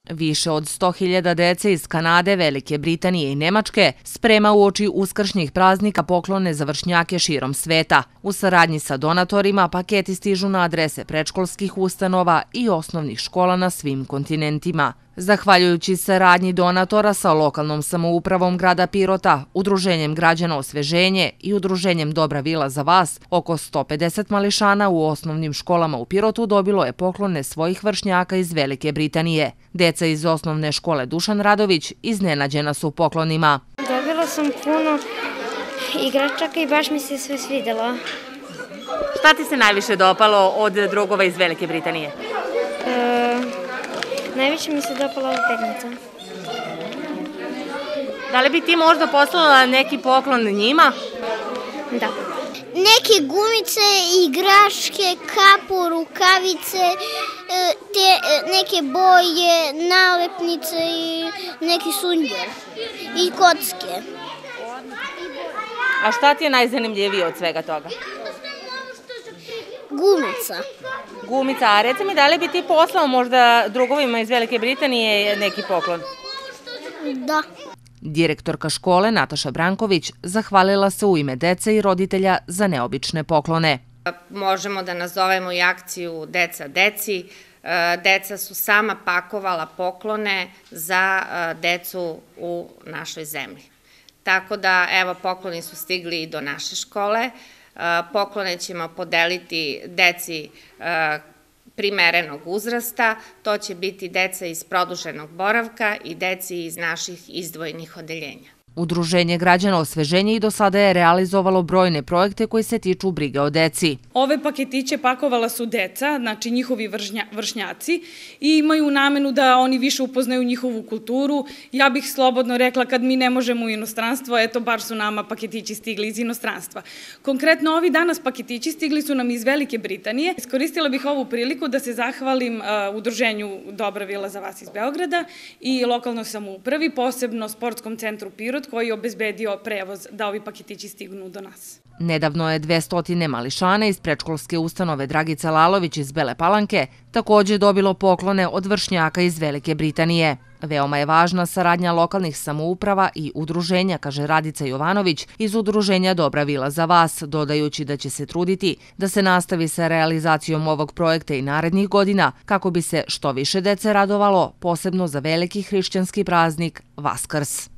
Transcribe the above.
Više od 100.000 dece iz Kanade, Velike Britanije i Nemačke sprema uoči uskršnjih praznika poklone za vršnjake širom sveta. U saradnji sa donatorima paketi stižu na adrese predškolskih ustanova i osnovnih škola na svim kontinentima. Zahvaljujući saradnji donatora sa lokalnom samoupravom grada Pirota, Udruženjem građana Osveženje i Udruženjem Dobra vila za vas, oko 150 mališana u osnovnim školama u Pirotu dobilo je poklone svojih vršnjaka iz Velike Britanije. Deca iz osnovne škole Dušan Radović iznenađena su poklonima. Dobila sam puno igračaka i baš mi se sve svidjelo. Šta ti se najviše dopalo od drugova iz Velike Britanije? Najviše mi se dopala ova pernica. Da li bi ti možda poslala neki poklon njima? Da. Neke gumice, igračke, kapu, rukavice, neke boje, nalepnice i neki sunđer i kocke. A šta ti je najzanimljivije od svega toga? Gumica. Gumica, a reci mi da li bi ti poslao možda drugovima iz Velike Britanije neki poklon? Da. Direktorka škole Nataša Branković zahvalila se u ime dece i roditelja za neobične poklone. Možemo da nazovemo i akciju Deca deci. Deca su sama pakovala poklone za decu u našoj zemlji. Tako da, evo, pokloni su stigli i do naše škole. Poklone ćemo podeliti deci primerenog uzrasta, to će biti deca iz produženog boravka i deci iz naših izdvojenih odeljenja. Udruženje građana Osveženje i do sada je realizovalo brojne projekte koji se tiču brige o deci. Ove paketiće pakovala su deca, znači njihovi vršnjaci, i imaju namenu da oni više upoznaju njihovu kulturu. Ja bih slobodno rekla, kad mi ne možemo u inostranstvo, eto, bar su nama paketići stigli iz inostranstva. Konkretno, ovi danas paketići stigli su nam iz Velike Britanije. Iskoristila bih ovu priliku da se zahvalim Udruženju Dobra vila za vas iz Beograda i lokalnoj samoupravi, posebno Sportskom centru Pirot, koji je obezbedio prevoz da ovi paketići stignu do nas. Nedavno je 200 mališana iz predškolske ustanove Dragica Lalović iz Bele Palanke također dobilo poklone od vršnjaka iz Velike Britanije. Veoma je važna saradnja lokalnih samouprava i udruženja, kaže Radica Jovanović iz Udruženja Dobra vila za vas, dodajući da će se truditi da se nastavi sa realizacijom ovog projekta i narednih godina kako bi se što više dece radovalo, posebno za veliki hrišćanski praznik Vaskrs.